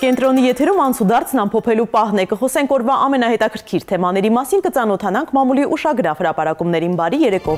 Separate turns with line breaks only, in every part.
Կենտրոնի եթերում անցուդարձն ամփոփելու պահն է, կխոսենք օրվա ամենահետաքրքիր թեմաների մասին, կծանոթանանք մամուլի ուշագրավ հրապարակումներին։ Բարի երեկո։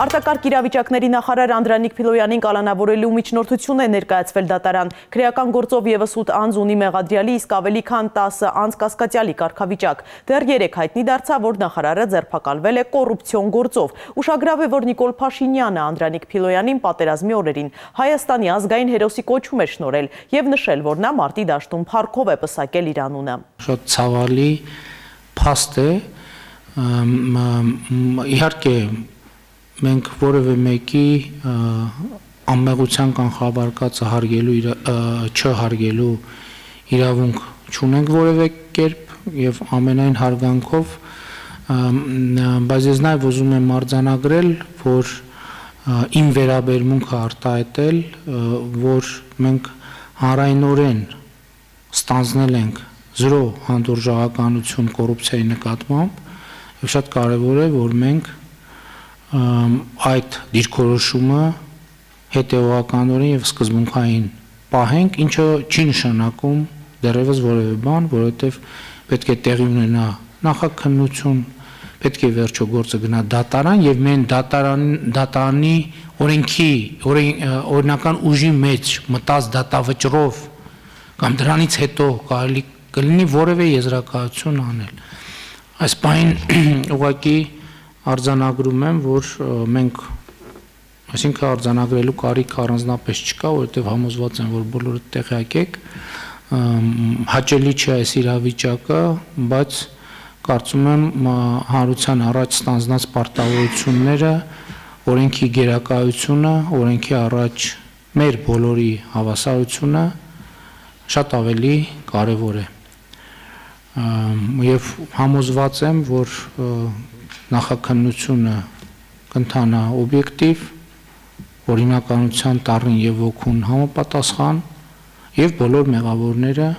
Արտակարգ իրավիճակների նախարար Անդրանիկ Փիլոյանին կալանավորելու միջնորդություն է ներկայացվել դատարան։ Քրեական գործով ևս 8 անձ ունի մեղադրյալի, իսկ ավելի քան 10 անձ կասկածյալի կարգավիճակ։ Դեռ 3 հայտնի դարձավ, որ նախարարը ձերբակալվել է կոռուպցիոն գործով։ Ուշագրավ է, որ Նիկոլ Փաշինյանը Անդրանիկ Փիլոյանին պատերազմի օրերին Հայաստանի ազգային հերոսի կոչում է շնորհել եւ նշել, որ նա մարտի դաշտում փառքով է պսակել իր անունը։
Շատ ցավալի փաստ է, իհարկե մենք որևէ մեկի անմեղության կանխաբարկածը չհարգելու իրավունք չունենք որևէ կերպ եւ ամենայն հարգանքով, բայց ես նաեւ ուզում եմ արձանագրել, որ իմ վերաբերմունքը արտահայտել, որ մենք հանրայնորեն ստանձնել ենք 0 հանդուրժողականություն կոռուպցիայի նկատմամբ եւ շատ կարեւոր է, որ մենք այդ դիրքորոշումը հետեւականորեն եւ սկզբունքային պահենք, ինչը չի նշանակում դեռևս որևէ բան, որովհետեւ պետք է տեղի ունենա նախաքննություն, պետք է վերջո գործը գնա դատարան եւ մենք դատարանի օրենական ուժի մեջ մտած դատավճռով կամ դրանից հետո կարելի կլինի որևէ եզրակացություն անել։ Այս բանին ուղղակի արձանագրում եմ, որ մենք, այսինքն արձանագրելու կարիք առանձնապես չկա, որովհետև համոզված եմ, որ բոլորը տեղյակ եք, հաճելի չէ այս իրավիճակը, բայց կարծում եմ հանրության առաջ ստանձնած պարտավորությունները, օրենքի գերակայությունը, օրենքի առաջ մեր բոլորի հավասարությունը շատ ավելի կարևոր է։ Եվ համոզված եմ, որ նախաքննությունը կընթանա օբյեկտիվ, օրինականության տառին եւ ոգուն համապատասխան եւ բոլոր մեղավորները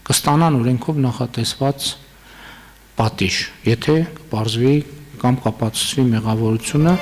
կստանան օրենքով նախատեսված պատիժ, եթե պարզվի կամ կապացուցվի մեղավորությունը։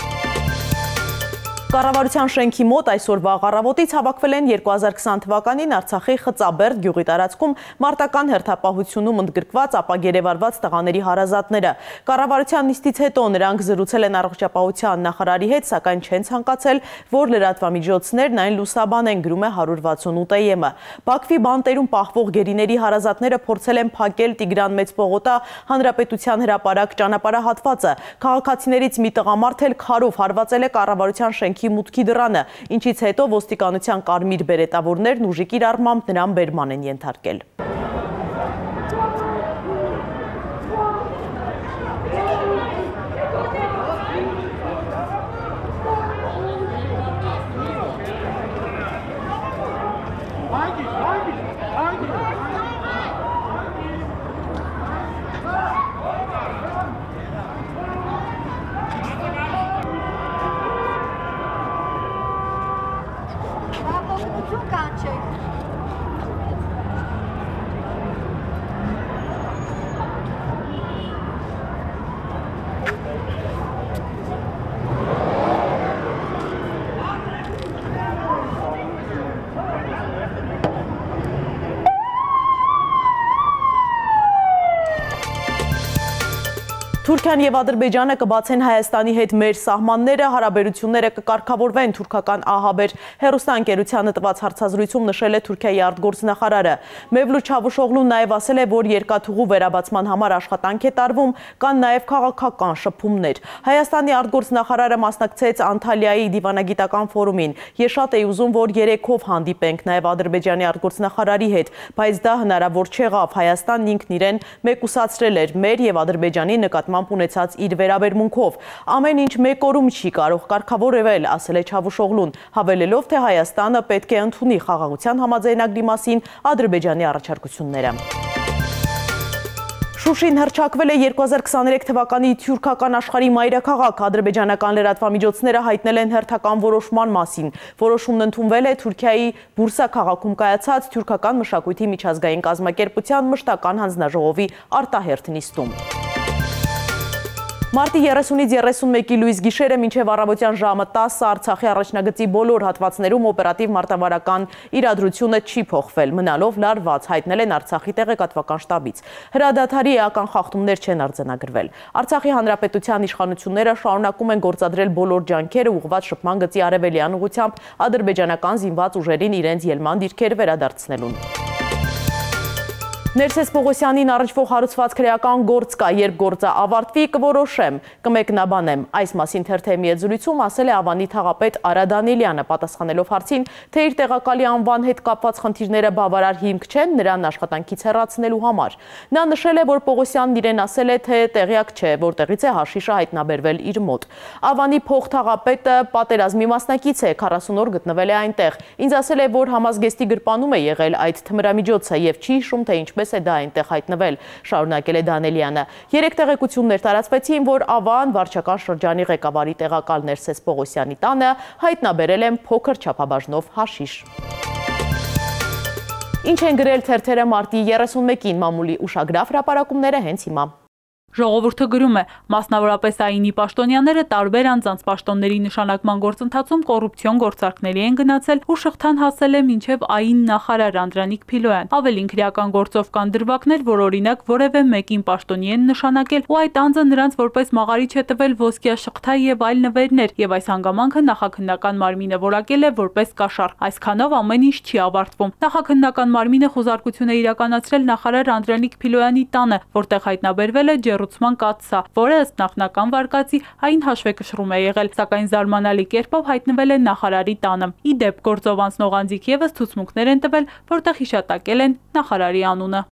Կառավարության շենքի մոտ այսօրվա առավոտից հավաքվել են 2020 թվականին Արցախի Խծաբերդ գյուղի տարածքում մարտական հերթապահությունում ընդգրկված ապագերեվարված տղաների հարազատները։ Կառավարության նիստից հետո նրանք զրուցել են առողջապահության նախարարի հետ, սակայն չեն ցանկացել, որ լրատվամիջոցներն այն լուսաբանեն, գրում է 168-ը։ Բաքվի բանտերում պահվող գերիների հարազատները փորձել են փակել Տիգրան Մեծպողոտա հանրապետության հրապարակ ճանապարհահատվածը։ Քաղաքացիներից մի տղամարդ էլ քարով հարվածել է կառավարության շենքի մուտքի դռանը, ինչից հետո ոստիկանության կարմիր բերետավորներն ուժի կիրառմամբ նրան բերման են ենթարկել։ Թուրքիան եւ Ադրբեջանը կբացեն Հայաստանի հետ մեր սահմանները, հարաբերությունները կկարգավորվեն, թուրքական ահաբեր հեռուստաընկերությանը տված հարցազրույցում նշել է Թուրքիայի արտգործնախարարը։ Մևլութ Չավուշօղլուն նաեւ ասել է, որ երկաթուղու վերաբացման համար աշխատանք է տարվում, կան նաեւ քաղաքական շփումներ։ Հայաստանի արտգործնախարարը մասնակցեց Անտալիայի դիվանագիտական ֆորումին։ Ես շատ էի ուզում, որ երեքով հանդիպենք նաեւ Ադրբեջանի արտգործնախարարի հետ, բայց դա հնարավոր չեղավ։ Հայաստանն ինքն իրեն մեկուսացրել էր մեր եւ Ադրբեջանի նկատմամբ ունեցած իր վերաբերմունքով։ Ամեն ինչ մեկ օրում չի կարող կարգավորվել, ասել է Չավուշօղլուն, հավելելով, թե Հայաստանը պետք է ընդունի խաղաղության համաձայնագրի մասին Ադրբեջանի առաջարկությունները։ Շուշին հռչակվել է 2023 թվականի թուրքական աշխարհի մայրաքաղաք։ Ադրբեջանական լրատվամիջոցները հայտնել են հերթական որոշման մասին։ Որոշումն ընդունվել է Թուրքիայի Բուրսա քաղաքում կայացած թուրքական մշակույթի միջազգային կազմակերպության մշտական հանձնաժողովի արտահերթ նիստում։ Մարտի 30-ից 31-ի լույս գիշերը մինչև առավոտյան ժամը 10 Արցախի առաջնագծի բոլոր հատվածներում օպերատիվ մարտավարական իրադրությունը չի փոխվել, մնալով լարված, հայտնել են Արցախի տեղեկատվական շտաբից։ Հրադադարի էական խախտումներ չեն արձանագրվել։ Արցախի հանրապետության իշխանությունները շարունակում են գործադրել բոլոր ջանքերը ուղղված շփման գծի արևելյան ուղղությամբ ադրբեջանական զինված ուժերին իրենց ելման դիրքեր վերադարձնելուն։ Ներսես Պողոսյանին առնչվող հարուցված քրեական գործ կա, երբ գործը ավարտվի կորոշեմ, կմեկնաբանեմ։ Այս մասին թերթի հետ զրույցում ասել է Ավանի թաղապետ Արա Դանիելյանը, պատասխանելով հարցին, թե իր տեղակալի անվան հետ կապված խնդիրները բավարար հիմք չեն նրան աշխատանքից հեռացնելու համար։ Նա նշել է, որ Պողոսյանն իրեն ասել է, թե տեղյակ չէ, որտեղից է հաշիշը հայտնաբերվել իր մոտ։ Ավանի փոխթաղապետը պատերազմի մասնակից է, 40 օր գտնվել է այնտեղ։ Ինձ ասել է, որ համազգեստի գրպանում է եղել այդ թմրամիջոցը եւ չի հիշում, թե ինչպես է դա այնտեղ հայտնվել, շարունակել է Դանիելյանը։ 3 տեղեկություններ տարածվեցին, որ Ավան վարչական շրջանի ղեկավարի տեղակալ Ներսես Պողոսյանի տանը հայտնաբերել են փոքր չափաբաժնով հաշիշ։ Ինչ են գրել թերթերը մարտի 31-ին, մամուլի ուշագրավ հրապարակումները հենց հիմա։
Ժողովուրդը գրում է, մասնավորապես ԱԻՆ-ի պաշտոնյաները տարբեր անձանց պաշտոնների նշանակման գործընթացում կոռուպցիոն գործարքների են գնացել ու շղթան հասել է մինչև ԱԻՆ նախարար Անդրանիկ Փիլոյան։ Ավելին քրեական գործով կան դրվագներ, որ օրինակ որևէ մեկին պաշտոնի են նշանակել ու այդ անձը նրանց որպես մաղարիչ է տվել ոսկյա շղթա եւ այլ նվերներ, եւ այս հանգամանքը նախաքննական մարմինը որակել է որպես կաշառք։ Այսքանով ամեն ինչ չի ավարտվում։ Նախաքննական մարմինը խոզարկություն է իրականացրել նախարար Անդրանիկ Փիլոյանի տանը, որտեղ հայտնաբերվել է ջեռուցման կաթսա, որը ըստ նախնական վարկածի այն հաշվեկշռում է եղել, սակայն զարմանալի կերպով հայտնվել է նախարարի տանը։ Ի դեպ, գործով անցնող անձիկ եւս ցուցմունքներ են տվել, որտեղ հիշատակել են նախարարի անունը։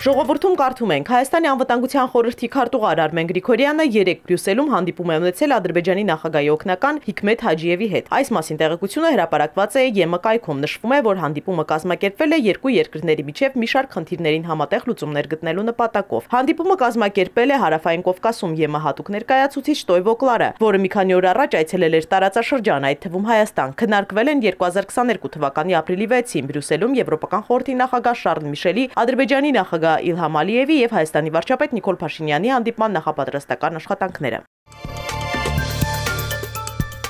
Ժողովրդում կարդում ենք, Հայաստանի անվտանգության խորհրդի քարտուղար Արմեն Գրիգորյանը երեկ Բրյուսելում հանդիպում է ունեցել Ադրբեջանի նախագահի օգնական Հիկմեթ Հաջիևի հետ։ Այս մասին տեղեկությունը հրապարակված է ԵՄ կայքում, նշվում է, որ հանդիպումը կազմակերպվել է երկու երկրների միջև մի շարք խնդիրներին համատեղ լուծումներ գտնելու նպատակով։ Հանդիպումը կազմակերպել է Հարավային Կովկասում ԵՄ հատուկ ներկայացուցիչ Տոյվո Կլարը, որը մի քանի օր առաջ այցելել էր տարածաշրջան, այդ թվում Հայաստան։ Քննարկվել են 2022 թվականի ապրիլի 6-ին Բրյուսելում Եվրոպական խորհրդի նախագահ Շարլ Միշելի, Ադրբեջանի նախագահ Իլհամ Ալիևի եւ Հայաստանի վարչապետ Նիկոլ Փաշինյանի հանդիպման նախապատրաստական աշխատանքները։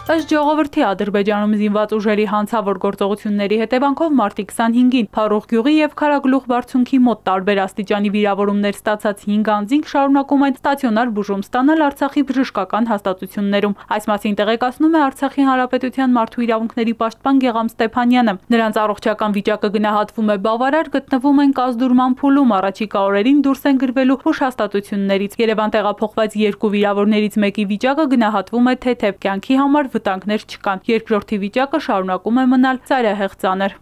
Ըստ ժողովրդի Ադրբեջանում զինված ուժերի հանցավոր գործողությունների հետևանքով մարտի 25-ին Փարուխ գյուղի եւ Քարագլուխ բարձունքի մոտ տարբեր աստիճանի վիրավորումներ ստացած 5 անձինք շարունակում են ստացիոնար բուժում ստանալ Արցախի բժշկական հաստատություններում։ Այս մասին տեղեկացնում է Արցախի Հանրապետության մարդու իրավունքների պաշտպան Գեգամ Ստեփանյանը։ Նրանց առողջական վիճակը գնահատվում է բավարար, գտնվում են կազդուրման փուլում, առաջիկա օրերին դուրս են գրվելու հուշհաստատություններից։ Երևան տեղափոխված 2 վիրավորներից մեկի վիճակը գնահատվում է թեթև, կյանքի համար վտանգներ չկան։ Երկրորդի վիճակը շարունակում է մնալ ծայրահեղ ծանր։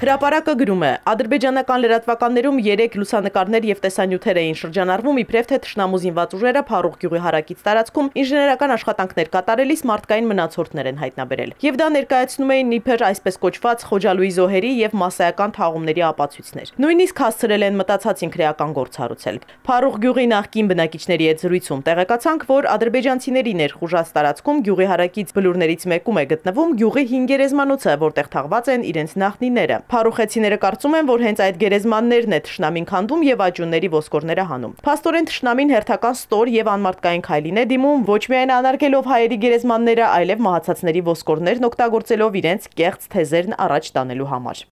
Հրապարակը գրում է, ադրբեջանական լրատվականներում 3 լուսանկարներ եւ տեսանյութեր էին շրջանառվում, իբրև թե թշնամու զինված ուժերը Փարուխ գյուղի հարակից տարածքում ինժեներական աշխատանքներ կատարելիս մարդկային մնացորդներ են հայտնաբերել։ Եվ դա ներկայացնում էին իբր այսպես կոչված Խոջալույի զոհերի եւ մասսայական թաղումների ապացույցներ։ Նույնիսկ հասցրել են մտածածին քրեական գործ հարուցել։ Փարուխ գյուղի նախկին բնակիչների հետ զրույցում տեղեկացանք, որ ադրբեջանցիների ներխուժած տարածքում գյուղի հարակից բլուրներից մեկում է գտնվում գյուղի 5 գերեզմանոցը, որտեղ թաղված են իրենց նախնիները։ Փարուխեցիները կարծում են, որ հենց այդ գերեզմաններն է թշնամին քանդում եւ աճյունների ոսկորները հանում։ Փաստորեն թշնամին հերթական ստոր եւ անմարդկային քայլին է դիմում ոչ միայն անարգելով հայերի գերեզմանները, այլև մահացածների ոսկորներն օգտագործելով իրենց կեղծ թեզերն առաջ տանելու համար։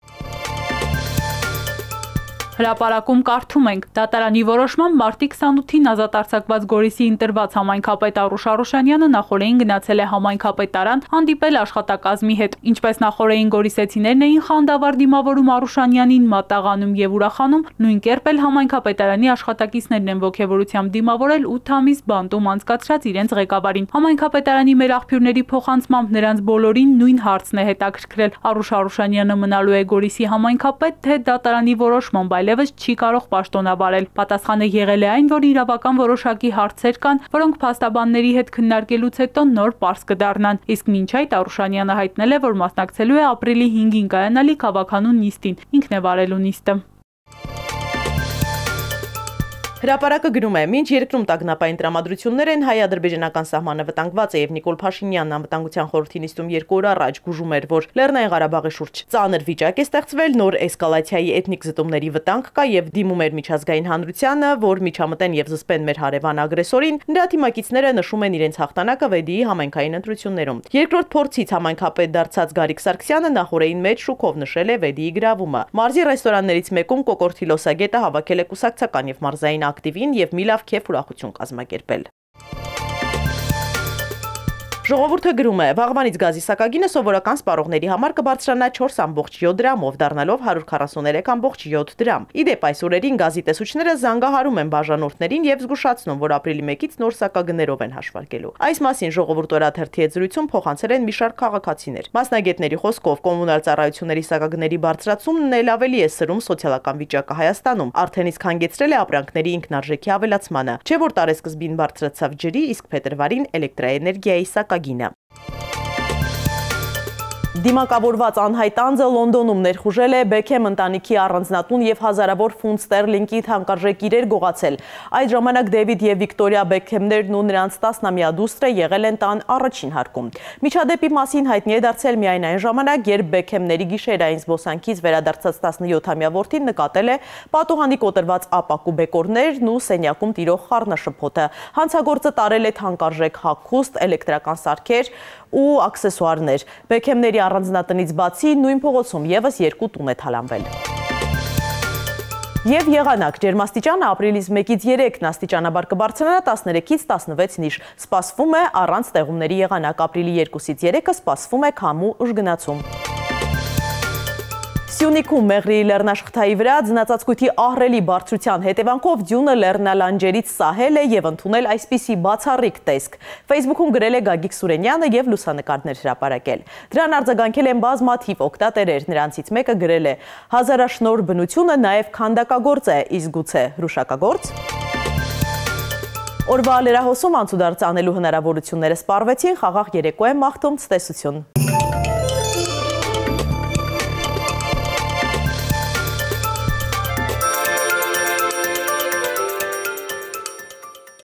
Հրապարակում կարդում ենք, դատարանի որոշմամբ մարտի 28-ին ազատ արձակված Գորիսի ընտրված համայնքապետ Արուշ Արուշանյանը նախորդին գնացել է համայնքապետարան հանդիպել աշխատակազմի հետ։ Ինչպես նախորդին գորիսեցիներն էին խանդավառ դիմավորում Արուշանյանին, մատաղանում եւ ուրախանում, նույն կերպ էլ համայնքապետարանի աշխատակիցներն են ոգևորությամբ դիմավորել 8 ամիս բանտում անցկացրած իրենց ղեկավարին։ Համայնքապետարանի մեր աղբյուրների փոխանցմամբ նրանց բոլորին նույն հարցն է հետաքրքրել։ Արուշ Արուշանյանը մնալու է Գորիսի համայնքապետ, թե դատարանի որոշմամբ այլևս չի կարող պաշտոնավարել։ Պատասխանը եղել է այն, որ իրավական որոշակի հարցեր կան, որոնք փաստաբանների հետ քննարկելուց հետո նոր պարզ կդառնան։ Իսկ մինչ այդ Արուշանյանը հայտնել է, որ մասնակցելու է ապրիլի 5-ին կայանալի քաղաքանուն նիստին, ինքն է վարելու նիստը։
Հրապարակը գրում է, մինչ երկրում տագնապային տրամադրություններ են, հայ-ադրբեջանական սահմանը վտանգված է եւ Նիկոլ Փաշինյանն անվտանգության խորհրդի նիստում 2 օր առաջ գուժում էր, որ Լեռնային Ղարաբաղի շուրջ ծանր վիճակ է ստեղծվել, նոր էսկալացիայի էթնիկ զտումների վտանգ կա եւ դիմում էր միջազգային հանրությանը, որ միջամտեն եւ զսպեն մեր հարևան ագրեսորին, նրա թիմակիցները նշում են իրենց հաղթանակը վեդիի համայնքային ընտրություններում։ Երկրորդ փորձից համայնքապետ դարձած Գարիկ Սարգսյանը նախորդին մեջ շուկով նշել է վեդիի գրավումը։ Մարզի ռեստորաններից մեկում Կոկորթի լոսագետը հավաքել է կուսակցական եւ մարզային ակտիվին եւ մի լավ քեֆ ուրախություն կազմակերպել։ Ժողովուրդը գրում է, վաղվանից գազի սակագինը սովորական սպառողների համար կբարձրանա 4.7 դրամով, դառնալով 143.7 դրամ։ Իդեպ այս օրերին գազի տեսուչները զանգահարում են բաժանորդներին եւ զգուշացնում, որ ապրիլի 1-ից նոր սակագներով են հաշվարկելու։ Այս մասին ժողովուրդ օրաթերթի հետ զրույցում փոխանցել են մի շարք քաղաքացիներ։ Մասնագետների խոսքով կոմունալ ծառայությունների սակագների բարձրացումն էլ ավելի է սրում սոցիալական վիճակը Հայաստանում, արդեն իսկ հանգեցրել է ապրանքների ինքնարժեքի ավելացմանը, չէ որ տարեսկզբին բարձրացավ ջրի, իսկ փետրվարին էլեկտրաէներգիայի սակագինը։ Դիմակավորված անհայտ անձը Լոնդոնում ներխուժել է Բեքեմ ընտանիքի առանձնատուն եւ հազարավոր ֆունտ ստերլինգի թանկարժեք իրեր գողացել։ Այդ ժամանակ Դեվիդ եւ Վիկտորիա Բեքեմներն ու նրանց 10-ամյա դուստրը եղել են տան առաջին հարկում։ Միջադեպի մասին հայտնի է դարձել միայն այն ժամանակ, երբ Բեքեմների գիշերային զբոսանքից վերադարձած 17-ամյա որդին նկատել է պատուհանի կոտրված ապակու բեկորներն ու սենյակում տիրող խառնաշփոթը։ Հանցագործը տարել է թանկարժեք հագուստ, էլեկտրական սարքեր ու աքսեսուարներ։ Բեքեմների առանձնատնից բացի նույն փողոցում եւս 2 տուն է թալանվել։ Եվ եղանակ ջերմաստիճանը ապրիլից 1-ից 3 աստիճանաբար կբարձրանա 13-ից 16 նիշ։ Սպասվում է առանց տեղումների եղանակ, ապրիլի 2-ից 3-ը սպասվում է քամու ուժգնացում։ Սյունիքում Մեղրիի լեռնաշխթայի վրա ձնածածկույթի ահռելի բարձրության հետևանքով ձյունը լեռնալանջերից սահել է եւ ընդունել այսպիսի բացառիկ տեսք։ Facebook-ում գրել է Գագիկ Սուրենյանը եւ լուսանկարներ հրապարակել։ Դրան արձագանքել են բազմաթիվ օգտատերեր, նրանցից մեկը գրել է. «Հազարաշնոր բնությունը նաեւ քանդակագործ է, իսկ գուցե հրուշակագործ»։ Օրվա լրահոսում անցուդարձ անելու հնարավորությունները սպառվեցին, խաղաղ երեկո է մաղթում, ցտեսություն։